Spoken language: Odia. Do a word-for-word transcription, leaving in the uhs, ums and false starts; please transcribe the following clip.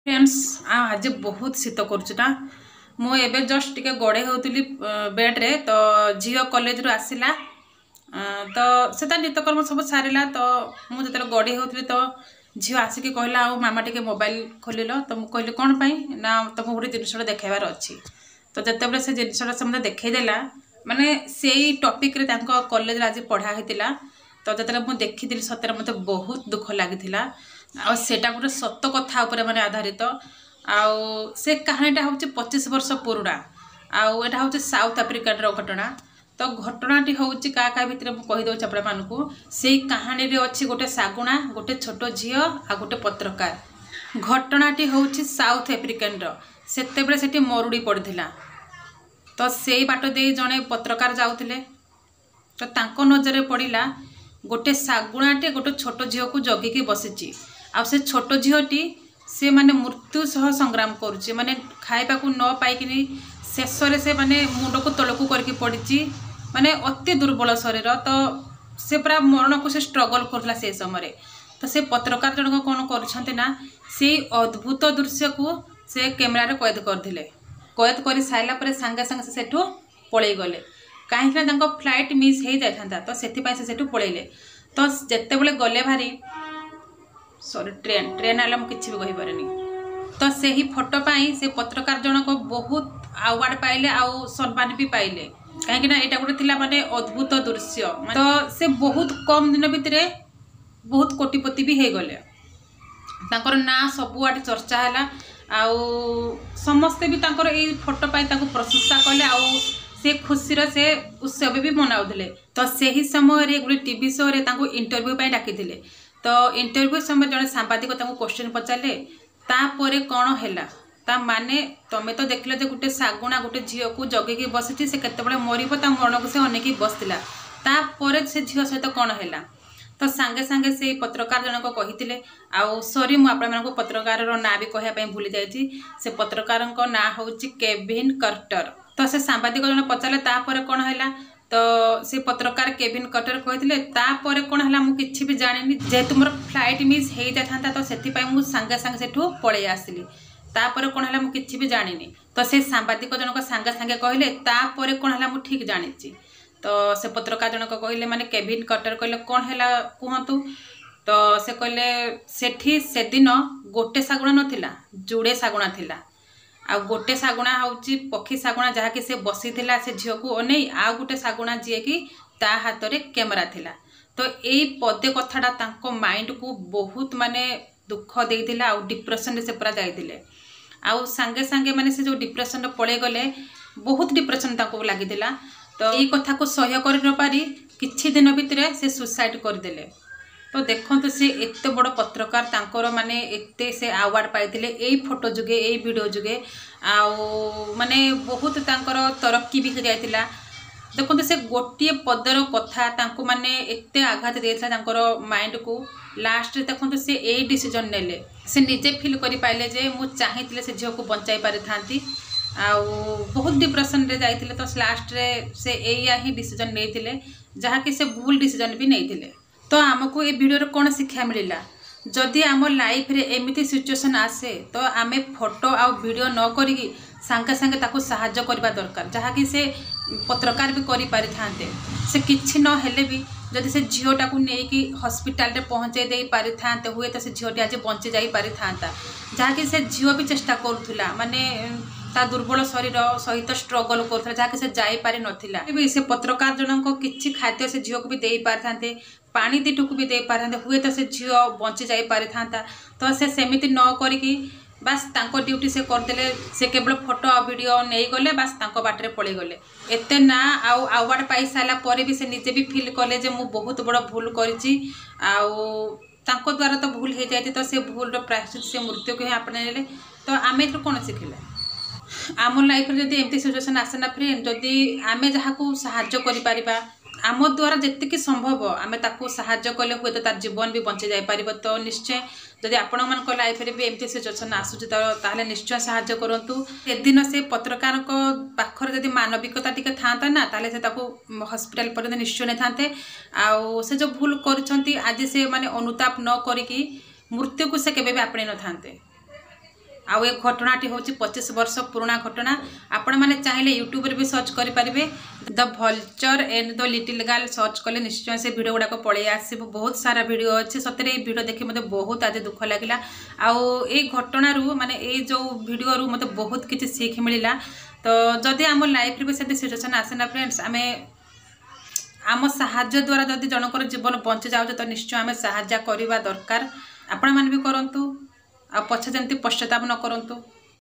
ଫ୍ରେଣ୍ଡସ୍, ଆଉ ଆଜି ବହୁତ ଶୀତ କରୁଛି ନା। ମୁଁ ଏବେ ଜଷ୍ଟ ଟିକେ ଗଡ଼େଇ ହେଉଥିଲି ବେଡ଼୍ରେ, ତ ଝିଅ କଲେଜରୁ ଆସିଲା। ତ ସେ ତା ନିତ୍ୟକର୍ମ ସବୁ ସାରିଲା। ତ ମୁଁ ଯେତେବେଳେ ଗଡ଼େଇ ହେଉଥିଲି, ତ ଝିଅ ଆସିକି କହିଲା, "ଆଉ ମାମା, ଟିକେ ମୋବାଇଲ ଖୋଲିଲ।" ତ ମୁଁ କହିଲି, "କ'ଣ ପାଇଁ?" ନା, ତମକୁ ଗୋଟେ ଜିନିଷଟା ଦେଖାଇବାର ଅଛି। ତ ଯେତେବେଳେ ସେ ଜିନିଷଟା ସେ ମୋତେ ଦେଖେଇଦେଲା, ମାନେ ସେଇ ଟପିକ୍ରେ ତାଙ୍କ କଲେଜରେ ଆଜି ପଢ଼ା ହେଇଥିଲା। ତ ଯେତେବେଳେ ମୁଁ ଦେଖିଥିଲି, ସତରେ ମୋତେ ବହୁତ ଦୁଃଖ ଲାଗିଥିଲା। ଆଉ ସେଇଟା ଗୋଟେ ସତ କଥା ଉପରେ ମାନେ ଆଧାରିତ। ଆଉ ସେ କାହାଣୀଟା ହେଉଛି ପଚିଶ ବର୍ଷ ପୁରୁଣା, ଆଉ ଏଇଟା ହେଉଛି ସାଉଥ ଆଫ୍ରିକାର ଘଟଣା। ତ ଘଟଣାଟି ହେଉଛି କାହା କାହା ଭିତରେ, ମୁଁ କହିଦେଉଛି ଆପଣମାନଙ୍କୁ। ସେଇ କାହାଣୀରେ ଅଛି ଗୋଟେ ଶାଗୁଣା, ଗୋଟେ ଛୋଟ ଝିଅ ଆଉ ଗୋଟେ ପତ୍ରକାର। ଘଟଣାଟି ହେଉଛି ସାଉଥ ଆଫ୍ରିକାନର। ସେତେବେଳେ ସେଠି ମରୁଡ଼ି ପଡ଼ିଥିଲା। ତ ସେଇ ବାଟ ଦେଇ ଜଣେ ପତ୍ରକାର ଯାଉଥିଲେ। ତ ତାଙ୍କ ନଜରରେ ପଡ଼ିଲା, ଗୋଟେ ଶାଗୁଣାଟେ ଗୋଟେ ଛୋଟ ଝିଅକୁ ଜଗିକି ବସିଛି। ଆଉ ସେ ଛୋଟ ଝିଅଟି ସେ ମାନେ ମୃତ୍ୟୁ ସହ ସଂଗ୍ରାମ କରୁଛି। ମାନେ ଖାଇବାକୁ ନ ପାଇକିନି ଶେଷରେ ସେ ମାନେ ମୁଣ୍ଡକୁ ତଳକୁ କରିକି ପଡ଼ିଛି, ମାନେ ଅତି ଦୁର୍ବଳ ଶରୀର। ତ ସେ ପୁରା ମରଣକୁ ସେ ଷ୍ଟ୍ରଗଲ୍ କରୁଥିଲା ସେଇ ସମୟରେ। ତ ସେ ପତ୍ରକାର ଜଣକ କ'ଣ କରୁଛନ୍ତି ନା, ସେଇ ଅଦ୍ଭୁତ ଦୃଶ୍ୟକୁ ସେ କ୍ୟାମେରାରେ କଏଦ କରିଥିଲେ। କଏଦ କରି ସାରିଲା ପରେ ସାଙ୍ଗେ ସାଙ୍ଗେ ସେ ସେଠୁ ପଳେଇ ଗଲେ, କାହିଁକିନା ତାଙ୍କ ଫ୍ଲାଇଟ୍ ମିସ୍ ହେଇଯାଇଥାନ୍ତା। ତ ସେଥିପାଇଁ ସେ ସେଠୁ ପଳେଇଲେ। ତ ଯେତେବେଳେ ଗଲେ ଭାରି, ସରି, ଟ୍ରେନ୍ ଟ୍ରେନ୍ ହେଲା, ମୁଁ କିଛି ବି କହିପାରେନି। ତ ସେହି ଫଟୋ ପାଇଁ ସେ ପତ୍ରକାର ଜଣକ ବହୁତ ଆୱାର୍ଡ଼ ପାଇଲେ ଆଉ ସମ୍ମାନ ବି ପାଇଲେ, କାହିଁକିନା ଏଇଟା ଗୋଟେ ଥିଲା ମାନେ ଅଦ୍ଭୁତ ଦୃଶ୍ୟ। ତ ସେ ବହୁତ କମ୍ ଦିନ ଭିତରେ ବହୁତ କୋଟିପତି ବି ହେଇଗଲେ। ତାଙ୍କର ନାଁ ସବୁଆଡ଼େ ଚର୍ଚ୍ଚା ହେଲା, ଆଉ ସମସ୍ତେ ବି ତାଙ୍କର ଏଇ ଫଟୋ ପାଇଁ ତାଙ୍କୁ ପ୍ରଶଂସା କଲେ, ଆଉ ସେ ଖୁସିର ସେ ଉତ୍ସବ ବି ମନାଉଥିଲେ। ତ ସେହି ସମୟରେ ଗୋଟେ ଟିଭି ଶୋରେ ତାଙ୍କୁ ଇଣ୍ଟରଭ୍ୟୁ ପାଇଁ ଡାକିଥିଲେ। ତ ଇଣ୍ଟରଭ୍ୟୁ ସମୟରେ ଜଣେ ସାମ୍ବାଦିକ ତାଙ୍କୁ କ୍ୱେଶ୍ଚନ୍ ପଚାରିଲେ, "ତାପରେ କ'ଣ ହେଲା? ତା ମାନେ ତମେ ତ ଦେଖିଲ ଯେ ଗୋଟେ ଶାଗୁଣା ଗୋଟେ ଝିଅକୁ ଜଗିକି ବସିଛି, ସେ କେତେବେଳେ ମରିବ ତା ମରଣକୁ ସେ ଅନେଇକି ବସିଥିଲା। ତାପରେ ସେ ଝିଅ ସହିତ କ'ଣ ହେଲା?" ତ ସାଙ୍ଗେ ସାଙ୍ଗେ ସେଇ ପତ୍ରକାର ଜଣକ କହିଥିଲେ, ଆଉ ସରି, ମୁଁ ଆପଣମାନଙ୍କୁ ପତ୍ରକାରର ନାଁ ବି କହିବା ପାଇଁ ଭୁଲି ଯାଇଛି। ସେ ପତ୍ରକାରଙ୍କ ନାଁ ହେଉଛି କେଭିନ୍ କର୍ଟର। ତ ସେ ସାମ୍ବାଦିକ ଜଣେ ପଚାରିଲେ, "ତାପରେ କ'ଣ ହେଲା?" ତ ସେ ପତ୍ରକାର କେଭିନ୍ କର୍ଟର କହିଥିଲେ, "ତାପରେ କ'ଣ ହେଲା ମୁଁ କିଛି ବି ଜାଣିନି। ଯେହେତୁ ମୋର ଫ୍ଲାଇଟ୍ ମିସ୍ ହେଇଯାଇଥାନ୍ତା, ତ ସେଥିପାଇଁ ମୁଁ ସାଙ୍ଗେ ସାଙ୍ଗେ ସେଠୁ ପଳେଇ ଆସିଲି। ତାପରେ କ'ଣ ହେଲା ମୁଁ କିଛି ବି ଜାଣିନି।" ତ ସେ ସାମ୍ବାଦିକ ଜଣକ ସାଙ୍ଗେ ସାଙ୍ଗେ କହିଲେ, "ତାପରେ କ'ଣ ହେଲା ମୁଁ ଠିକ୍ ଜାଣିଛି।" ତ ସେ ପତ୍ରକାର ଜଣକ କହିଲେ, ମାନେ କେଭିନ୍ କର୍ଟର କହିଲେ, "କ'ଣ ହେଲା କୁହନ୍ତୁ।" ତ ସେ କହିଲେ, "ସେଠି ସେଦିନ ଗୋଟେ ଶାଗୁଣା ନଥିଲା, ଯୋଡ଼େ ଶାଗୁଣା ଥିଲା। ଆଉ ଗୋଟେ ଶାଗୁଣା ହେଉଛି ପକ୍ଷୀ ଶାଗୁଣା, ଯାହାକି ସେ ବସିଥିଲା ସେ ଝିଅକୁ ଅନେଇ, ଆଉ ଗୋଟେ ଶାଗୁଣା ଯିଏକି ତା ହାତରେ କ୍ୟାମେରା ଥିଲା।" ତ ଏଇ ପଦେ କଥାଟା ତାଙ୍କ ମାଇଣ୍ଡକୁ ବହୁତ ମାନେ ଦୁଃଖ ଦେଇଥିଲା, ଆଉ ଡିପ୍ରେସନରେ ସେ ପୁରା ଯାଇଥିଲେ। ଆଉ ସାଙ୍ଗେ ସାଙ୍ଗେ ମାନେ ସେ ଯେଉଁ ଡିପ୍ରେସନରେ ପଳେଇ ଗଲେ, ବହୁତ ଡିପ୍ରେସନ ତାଙ୍କୁ ଲାଗିଥିଲା। ତ ଏଇ କଥାକୁ ସହ୍ୟ କରି ନପାରି କିଛି ଦିନ ଭିତରେ ସେ ସୁସାଇଡ଼ କରିଦେଲେ। ତ ଦେଖନ୍ତୁ, ସେ ଏତେ ବଡ଼ ପତ୍ରକାର, ତାଙ୍କର ମାନେ ଏତେ ସେ ଆୱାର୍ଡ଼ ପାଇଥିଲେ ଏଇ ଫଟୋ ଯୋଗେ, ଏଇ ଭିଡ଼ିଓ ଯୋଗେ, ଆଉ ମାନେ ବହୁତ ତାଙ୍କର ତରକ୍କି ବି ହେଇଯାଇଥିଲା। ଦେଖନ୍ତୁ, ସେ ଗୋଟିଏ ପଦର କଥା ତାଙ୍କୁ ମାନେ ଏତେ ଆଘାତ ଦେଇଥିଲା ତାଙ୍କର ମାଇଣ୍ଡକୁ। ଲାଷ୍ଟରେ ଦେଖନ୍ତୁ, ସେ ଏଇ ଡିସିଜନ୍ ନେଲେ। ସେ ନିଜେ ଫିଲ୍ କରିପାରିଲେ ଯେ ମୁଁ ଚାହିଁଥିଲେ ସେ ଝିଅକୁ ବଞ୍ଚାଇ ପାରିଥାନ୍ତି। ଆଉ ବହୁତ ଡିପ୍ରେସନରେ ଯାଇଥିଲେ। ତ ଲାଷ୍ଟରେ ସେ ଏଇଆ ହିଁ ଡିସିଜନ୍ ନେଇଥିଲେ, ଯାହାକି ସେ ଭୁଲ ଡିସିଜନ୍ ବି ନେଇଥିଲେ। ତ ଆମକୁ ଏ ଭିଡ଼ିଓରେ କ'ଣ ଶିକ୍ଷା ମିଳିଲା? ଯଦି ଆମ ଲାଇଫରେ ଏମିତି ସିଚୁଏସନ୍ ଆସେ, ତ ଆମେ ଫଟୋ ଆଉ ଭିଡ଼ିଓ ନ କରିକି ସାଙ୍ଗେ ସାଙ୍ଗେ ତାକୁ ସାହାଯ୍ୟ କରିବା ଦରକାର, ଯାହାକି ସେ ପତ୍ରକାର ବି କରିପାରିଥାନ୍ତେ। ସେ କିଛି ନହେଲେ ବି ଯଦି ସେ ଝିଅଟାକୁ ନେଇକି ହସ୍ପିଟାଲରେ ପହଞ୍ଚେଇ ଦେଇ ପାରିଥାନ୍ତେ, ହୁଏତ ସେ ଝିଅଟି ଆଜି ବଞ୍ଚି ଯାଇପାରିଥାନ୍ତା। ଯାହାକି ସେ ଝିଅ ବି ଚେଷ୍ଟା କରୁଥିଲା, ମାନେ ତା ଦୁର୍ବଳ ଶରୀର ସହିତ ଷ୍ଟ୍ରଗଲ୍ କରୁଥିଲା, ଯାହାକି ସେ ଯାଇପାରିନଥିଲା ବି। ସେ ପତ୍ରକାର ଜଣଙ୍କ କିଛି ଖାଦ୍ୟ ସେ ଝିଅକୁ ବି ଦେଇପାରିଥାନ୍ତେ, ପାଣି ଦୁଇଟୋପା ବି ଦେଇପାରିଥାନ୍ତେ, ହୁଏତ ସେ ଝିଅ ବଞ୍ଚି ଯାଇପାରିଥାନ୍ତା। ତ ସେ ସେମିତି ନ କରିକି ବାସ୍ ତାଙ୍କ ଡ୍ୟୁଟି ସେ କରିଦେଲେ। ସେ କେବଳ ଫଟୋ ଆଉ ଭିଡ଼ିଓ ନେଇଗଲେ, ବାସ୍ ତାଙ୍କ ବାଟରେ ପଳେଇଗଲେ। ଏତେ ନାଁ ଆଉ ଆୱାର୍ଡ଼ ପାଇସାରିଲା ପରେ ବି ସେ ନିଜେ ବି ଫିଲ୍ କଲେ ଯେ ମୁଁ ବହୁତ ବଡ଼ ଭୁଲ କରିଛି, ଆଉ ତାଙ୍କ ଦ୍ୱାରା ତ ଭୁଲ ହେଇଯାଇଛି। ତ ସେ ଭୁଲର ପ୍ରାୟଶ୍ଚିତ ସେ ମୃତ୍ୟୁକୁ ହିଁ ଆପଣେଇଲେ। ତ ଆମେ ଏଥିରୁ କ'ଣ ଶିଖିଲେ? ଆମ ଲାଇଫରେ ଯଦି ଏମିତି ସିଚୁଏସନ୍ ଆସେ ନା ଫ୍ରେଣ୍ଡ, ଯଦି ଆମେ ଯାହାକୁ ସାହାଯ୍ୟ କରିପାରିବା, ଆମ ଦ୍ୱାରା ଯେତିକି ସମ୍ଭବ ଆମେ ତାକୁ ସାହାଯ୍ୟ କଲେ ହୁଏତ ତାର ଜୀବନ ବି ବଞ୍ଚି ଯାଇପାରିବ। ତ ନିଶ୍ଚୟ ଯଦି ଆପଣମାନଙ୍କ ଲାଇଫରେ ବି ଏମିତି ସିଚୁଏସନ୍ ଆସୁଛି, ତ ତାହେଲେ ନିଶ୍ଚୟ ସାହାଯ୍ୟ କରନ୍ତୁ। ସେଦିନ ସେ ପତ୍ରକାରଙ୍କ ପାଖରେ ଯଦି ମାନବିକତା ଟିକେ ଥାନ୍ତା ନା, ତାହେଲେ ସେ ତାକୁ ହସ୍ପିଟାଲ ପର୍ଯ୍ୟନ୍ତ ନିଶ୍ଚୟ ନେଇଥାନ୍ତେ। ଆଉ ସେ ଯେଉଁ ଭୁଲ କରିଛନ୍ତି, ଆଜି ସେ ମାନେ ଅନୁତାପ ନ କରିକି ମୃତ୍ୟୁକୁ ସେ କେବେ ବି ଆପଣେଇ ନଥାନ୍ତେ। ଆଉ ଏ ଘଟଣାଟି ହେଉଛି ପଚିଶ ବର୍ଷ ପୁରୁଣା ଘଟଣା। ଆପଣମାନେ ଚାହିଁଲେ ୟୁଟ୍ୟୁବରେ ବି ସର୍ଚ୍ଚ କରିପାରିବେ, the vulture and the little girl search କଲେ ନିଶ୍ଚୟ ସେ ଭିଡ଼ିଓ ଗୁଡ଼ାକ ପଳେଇ ଆସିବ। ବହୁତ ସାରା ଭିଡ଼ିଓ ଅଛି। ସତରେ ଏଇ ଭିଡ଼ିଓ ଦେଖି ମୋତେ ବହୁତ ଆଜି ଦୁଃଖ ଲାଗିଲା। ଆଉ ଏଇ ଘଟଣାରୁ, ମାନେ ଏଇ ଯେଉଁ ଭିଡ଼ିଓରୁ ମୋତେ ବହୁତ କିଛି ଶିଖ ମିଳିଲା। ତ ଯଦି ଆମ ଲାଇଫ୍ରେ ବି ସେମିତି ସିଚୁଏସନ୍ ଆସେ ନା ଫ୍ରେଣ୍ଡସ୍, ଆମେ ଆମ ସାହାଯ୍ୟ ଦ୍ୱାରା ଯଦି ଜଣଙ୍କର ଜୀବନ ବଞ୍ଚି ଯାଉଛି, ତ ନିଶ୍ଚୟ ଆମେ ସାହାଯ୍ୟ କରିବା ଦରକାର। ଆପଣମାନେ ବି କରନ୍ତୁ, ଆଉ ପଛେ ଯେମିତି ପଶ୍ଚାତାପ ନ କରନ୍ତୁ।